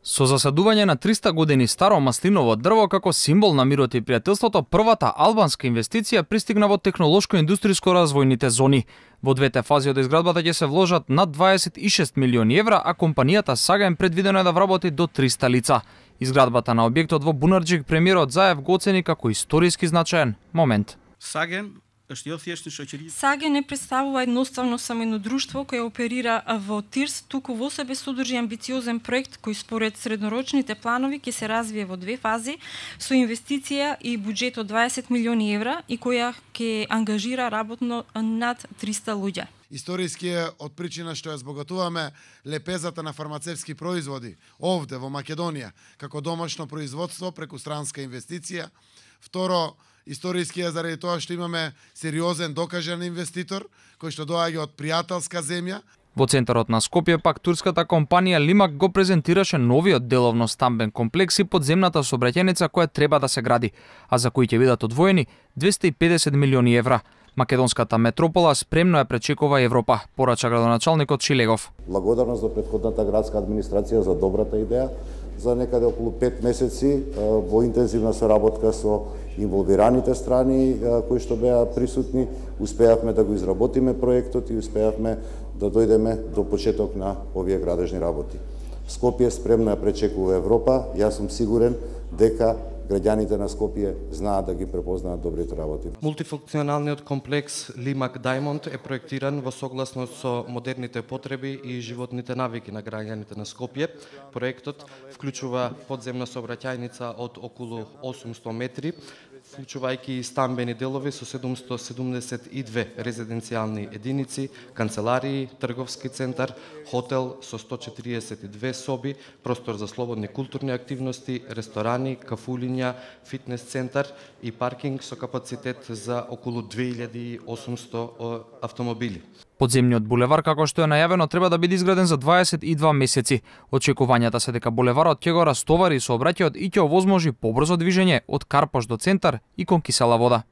Со засадување на 300 години старо маслиново дрво како символ на мирот и пријателството, првата албанска инвестиција пристигна во технолошко-индустријско развојните зони. Во двете фази од изградбата ќе се вложат над 26 милиони евра, а компанијата Саген предвидено е да вработи до 300 лица. Изградбата на објектот во Бунарџик премиерот Заев го оцени како историски значаен момент. Саген не представува едноставно само едно друштво кое оперира во ТИРС, туку во себе содржи амбициозен проект кој според среднорочните планови ќе се развие во две фази со инвестиција и буџет од 20 милиони евра и која ќе ангажира работно над 300 луѓе. Историски е од причина што ја збогатуваме лепезата на фармацевски производи овде во Македонија како домашно производство преку странска инвестиција. Второ, историски е заради тоа што имаме сериозен докажан инвеститор кој што доаѓа од пријателска земја. Во центарот на Скопје пак турската компанија Лимак го презентираше новиот деловно стамбен комплекс и подземната сообраќајница која треба да се гради, а за кои ќе бидат одвоени 250 милиони евра. Македонската метропола спремно ја пречекува Европа, порача градоначалникот Шилегов. Благодарност до претходната градска администрација за добрата идеја. За некаде околу 5 месеци во интензивна соработка со инволвираните страни кои што беа присутни, успеавме да го изработиме проектот и успеавме да дојдеме до почеток на овие градежни работи. Скопје спремно ја пречекува Европа. Јас сум сигурен дека граѓаните на Скопје знаат да ги препознаат добрите работи. Мултифункционалниот комплекс Лимак Даймонд е проектиран во согласност со модерните потреби и животните навики на граѓаните на Скопје. Проектот вклучува подземна сообраќајница од околу 800 метри, вклучувајќи стамбени делови со 772 резиденцијални единици, канцеларии, трговски центар, хотел со 142 соби, простор за слободни културни активности, ресторани, кафулиња, фитнес центар и паркинг со капацитет за околу 2800 автомобили. Подземниот булевар, како што е најавено, треба да биде изграден за 22 месеци. Очекувањата се дека булеварот ќе го растовари сообраќајот и ќе овозможи побрзо движење од Карпош до центар и кон кисела вода.